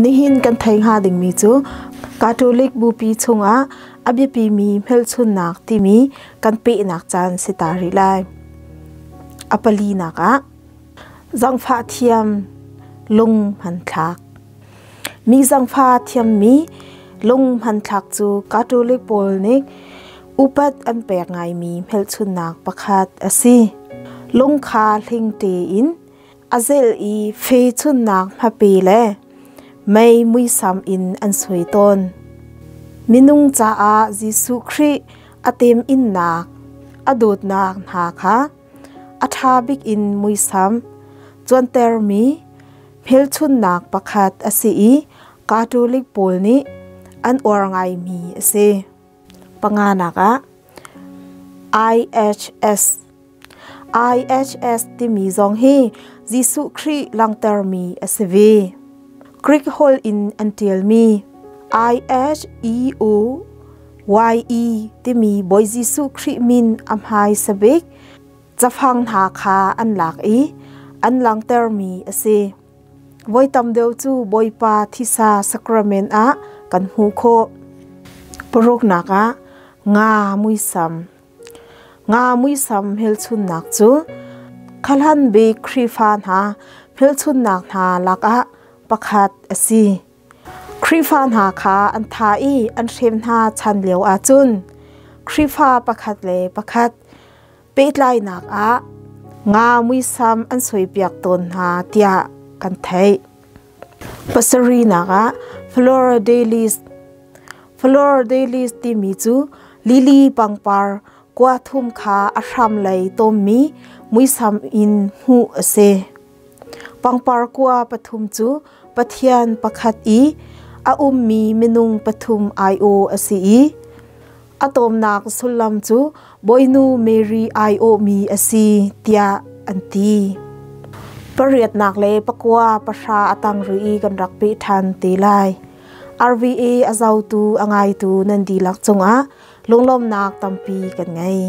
Nihin kan thei hnga dingmi cu Catholic Bupi chungah a biapimi hmelchunnak timi kan pehnak caan si ta rih lai. A palinak ah zangfah thiam lung hmanthlak. Mi zangfah thiammi lung hmanthlak cu Catholic pawl nih upat an pek ngaimi hmelchunnak pakhat a si. Lung kha hling tein a zelh i fe chunnak hmape le mei muisam in an sui tawn. Minung caah Jesuh Khrih a teminnak, a dawtnak hna kha a ṭha bik in muisam cuantermi hmelchunhnak pakhat a si i Catholic pawl nih an uar ngaimi a si. Panganak ah IHS IHS timi zong hi Jesuh Khrih langhtermi a si ve. Greek holh in an ṭialmi I-H-E-O Y-E timi Bawi Jesuh Khrih min a hmaisa bik cafang hna kha an lak i an langhtermi a si. Voi tam deuh cu Bawipa thisa sacrament ah kan hmuh khawh. Paruknak ah nga muisam. Nga muisam hmelchunhnak cu khalan bik Khrihfa hna hmelchunhnak hna lakah pakhat a si. Khrihfa hna kha an thah i an hrem hna chan lio ahcun Khrihfa pakhat le pakhat pehtlainak ah nga muisam an suaipiak tawn hna tiah kan theih. Pasarihnak ah Flora Dailies Flora Dailies timi cu lily pangpar kua thum kha a hram lei tawmmi muisam in hmuh a si. Pangpar kua pathum cu Pathian pakhat i a ummi minung pathum aiawh a si i a tawmnak sullam cu Bawinu Mary aiawhmi a si tiah an ti. Pariatnak le pakua pahra a tang rih i kan rak peh ṭhan te lai. RVA a zotu a ngaitu nan dihlak cungah lunglawmnak tampi kan ngei.